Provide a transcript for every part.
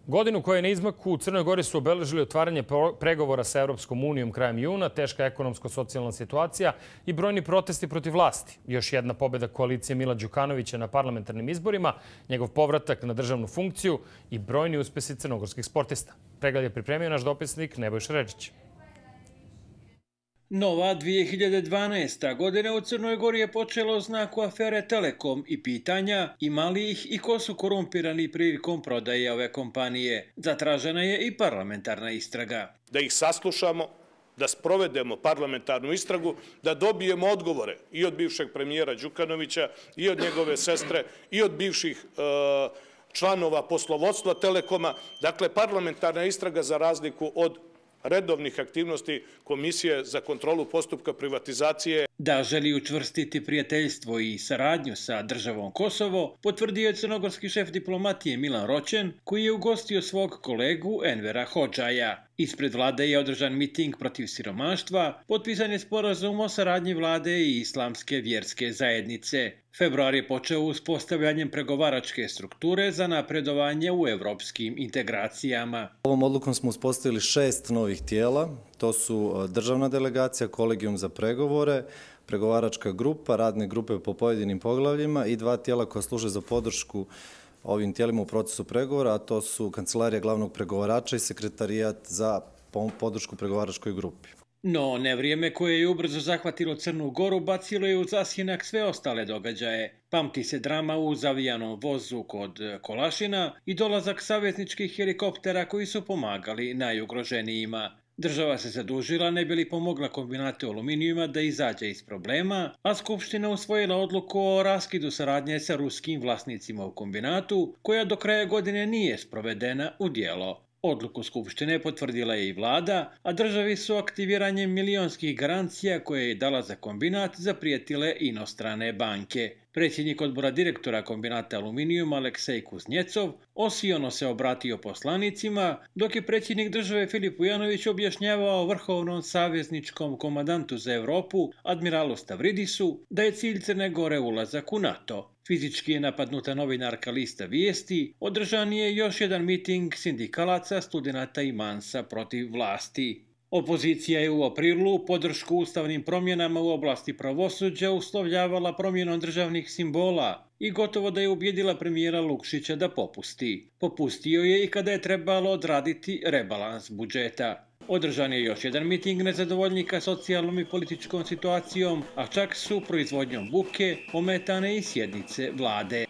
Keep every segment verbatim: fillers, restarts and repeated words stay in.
Godinu koja je na izmaku u Crnoj Gori su obeležili otvaranje pregovora sa Evropskom unijom krajem juna, teška ekonomsko-socijalna situacija i brojni protesti protiv vlasti. Još jedna pobjeda koalicije Mila Đukanovića na parlamentarnim izborima, njegov povratak na državnu funkciju i brojni uspesi crnogorskih sportista. Pregled je pripremio naš dopisnik Nebojša Ređić. Nova dvije hiljade dvanaesta. godina u Crnoj Gori je počela u znaku afere Telekom i pitanja ima li ih i ko su korumpirani prilikom prodaje ove kompanije. Zatražena je i parlamentarna istraga. Da ih saslušamo, da sprovedemo parlamentarnu istragu, da dobijemo odgovore i od bivšeg premijera Đukanovića, i od njegove sestre, i od bivših članova poslovodstva Telekoma. Dakle, parlamentarna istraga za razliku od redovnih aktivnosti Komisije za kontrolu postupka privatizacije. Da želi učvrstiti prijateljstvo i saradnju sa državom Kosovo, potvrdio je crnogorski šef diplomatije Milan Roćen, koji je ugostio svog kolegu Envera Hodžaja. Ispred vlade je održan miting protiv siromaštva, potpisan je sporazum o saradnji vlade i islamske vjerske zajednice. Februar je počeo uspostavljanjem pregovaračke strukture za napredovanje u evropskim integracijama. Ovom odlukom smo uspostavili šest novih tijela. To su državna delegacija, kolegijum za pregovore, pregovaračka grupa, radne grupe po pojedinim poglavljima i dva tijela koja služe za podršku ovim tijelima u procesu pregovora, a to su Kancelarija glavnog pregovarača i Sekretarijat za podršku pregovaračkoj grupi. No, nevrijeme koje je ubrzo zahvatilo Crnu Goru bacilo je u zasjenak sve ostale događaje. Pamti se drama u zavijanom vozu kod Kolašina i dolazak savezničkih helikoptera koji su pomagali najugroženijima. Država se zadužila ne bi li pomogla kombinatu aluminijuma da izađe iz problema, a Skupština usvojila odluku o raskidu saradnje sa ruskim vlasnicima u kombinatu, koja do kraja godine nije sprovedena u djelo. Odluku Skupštine potvrdila je i vlada, a državi su aktiviranjem milionskih garancija koje je dala za kombinat zaprijetile inostrane banke. Predsjednik odbora direktora kombinata Aluminijum Aleksej Kuznjecov osiono se obratio poslanicima, dok je predsjednik države Filip Vujanović objašnjavao vrhovnom savezničkom komandantu za Evropu, admiralu Stavridisu, da je cilj Crne Gore ulazak u NATO. Fizički je napadnuta novinarka Lista Vijesti, održan je još jedan miting sindikalaca, studenata i mansa protiv vlasti. Opozicija je u aprilu podršku ustavnim promjenama u oblasti pravosuđa uslovljavala promjenom državnih simbola i gotovo da je ubjedila premijera Lukšića da popusti. Popustio je i kada je trebalo odraditi rebalans budžeta. Održan je još jedan miting nezadovoljnika socijalnom i političkom situacijom, a čak su proizvodnjom buke ometane i sjednice vlade.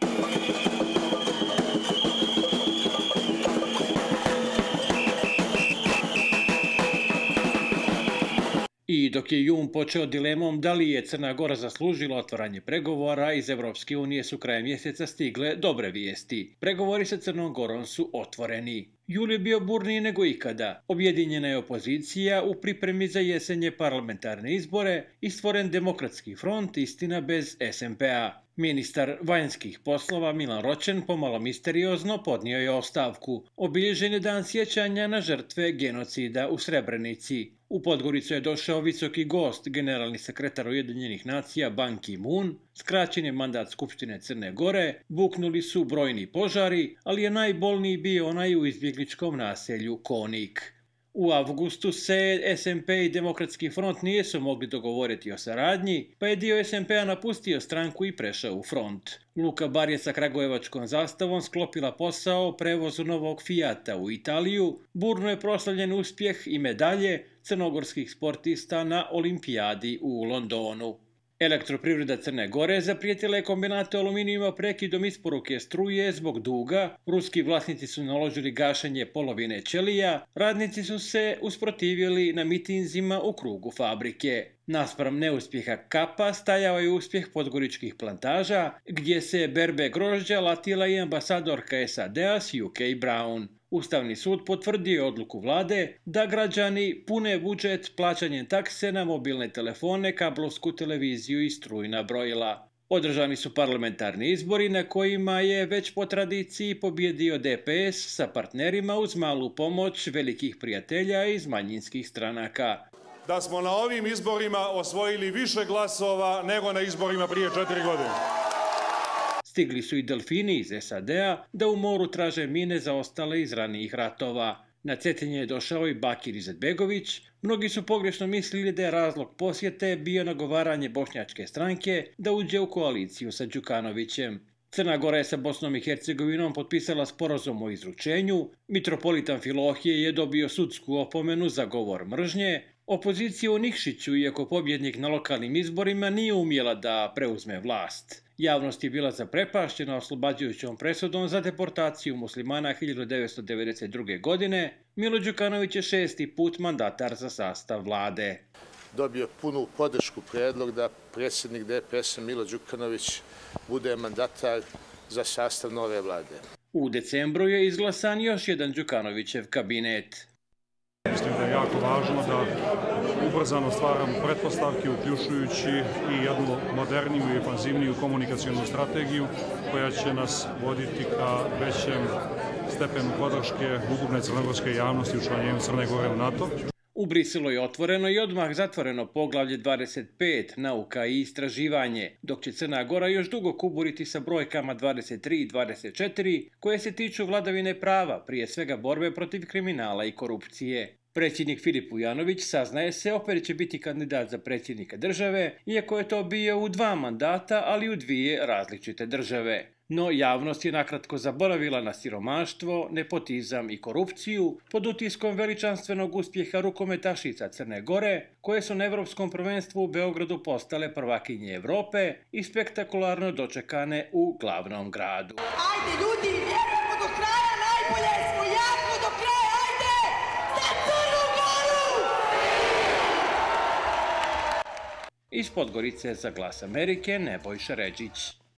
I dok je jun počeo dilemom da li je Crna Gora zaslužila otvaranje pregovora, iz Evropske unije su krajem mjeseca stigle dobre vijesti. Pregovori sa Crnom Gorom su otvoreni. Jul je bio burniji nego ikada. Objedinjena je opozicija u pripremi za jesenje parlamentarne izbore i stvoren demokratski front, istina bez es em pe a. Ministar vanjskih poslova Milan Roćen pomalo misteriozno podnio je ostavku. Obilježen je dan sjećanja na žrtve genocida u Srebrenici. U Podgoricu je došao visoki gost, generalni sekretar Ujedinjenih nacija Ban Ki-moon, skraćen je mandat Skupštine Crne Gore, buknuli su brojni požari, ali je najbolniji bio onaj u izbjegličkom naselju Konik. U avgustu se es em pe i Demokratski front nisu mogli dogovoriti o saradnji, pa je dio es em pe a napustio stranku i prešao u front. Luka Bar je sa kragujevačkom zastavom sklopila posao o prevozu novog Fijata u Italiju, burno je proslavljen uspjeh i medalje crnogorskih sportista na olimpijadi u Londonu. Elektroprivreda Crne Gore zaprijetila je kombinatu aluminijuma prekidom isporuke struje zbog duga, ruski vlasnici su naložili gašenje polovine ćelija, radnici su se usprotivili na mitinzima u krugu fabrike. Naspram neuspjeha Kapa stajao je uspjeh podgoričkih plantaža, gdje se berbe grožđa latila i ambasadorka es a de a Sue K. Brown. Ustavni sud potvrdio odluku vlade da građani pune budžet plaćanjem takse na mobilne telefone, kablovsku televiziju i strujna brojila. Održani su parlamentarni izbori na kojima je već po tradiciji pobjedio de pe es sa partnerima uz malu pomoć velikih prijatelja iz manjinskih stranaka. Da smo na ovim izborima osvojili više glasova nego na izborima prije četiri godine. Stigli su i delfini iz S A D-a da u moru traže mine zaostale iz ranijih ratova. Na Cetinje je došao i Bakir Izetbegović. Mnogi su pogrešno mislili da je razlog posjete bio nagovaranje bošnjačke stranke da uđe u koaliciju sa Đukanovićem. Crna Gora je sa Bosnom i Hercegovinom potpisala sporazum o izručenju, mitropolit Amfilohije je dobio sudsku opomenu za govor mržnje, opozicija u Nikšiću, iako pobjednik na lokalnim izborima, nije umjela da preuzme vlast. Javnost je bila zaprepašćena oslobađajućom presudom za deportaciju muslimana hiljadu devetsto devedeset druge. godine. Milo Đukanović je šesti put mandatar za sastav vlade. Dobio punu podršku predlog da predsjednik D P S-a Milo Đukanović bude mandatar za sastav nove vlade. U decembru je izglasan još jedan Đukanovićev kabinet. Mislim da je jako važno da ubrzano stvaramo pretpostavke, uključujući i jednu moderniju i ofanzivniju komunikacijonu strategiju koja će nas voditi ka većem stepenu podrške ukupne crnogorske javnosti u učlanjenju Crne Gore u NATO. U Briselu je otvoreno i odmah zatvoreno poglavlje dvadeset pet, nauka i istraživanje, dok će Crna Gora još dugo kuburiti sa brojkama dvadeset tri i dvadeset četiri, koje se tiču vladavine prava, prije svega borbe protiv kriminala i korupcije. Predsjednik Filip Vujanović, saznaje se, opet će biti kandidat za predsjednika države, iako je to bio u dva mandata, ali u dvije različite države. No javnost je nakratko zaboravila na siromaštvo, nepotizam i korupciju pod utiskom veličanstvenog uspjeha rukometašica Crne Gore, koje su na Evropskom prvenstvu u Beogradu postale prvakinje Evrope i spektakularno dočekane u glavnom gradu. Ajde ljudi, vjerujemo do kraja, najbolje smo, jako do kraja, ajde! Za Crnu Goru! Iz Podgorice za Glas Amerike, Nebojša Ređić.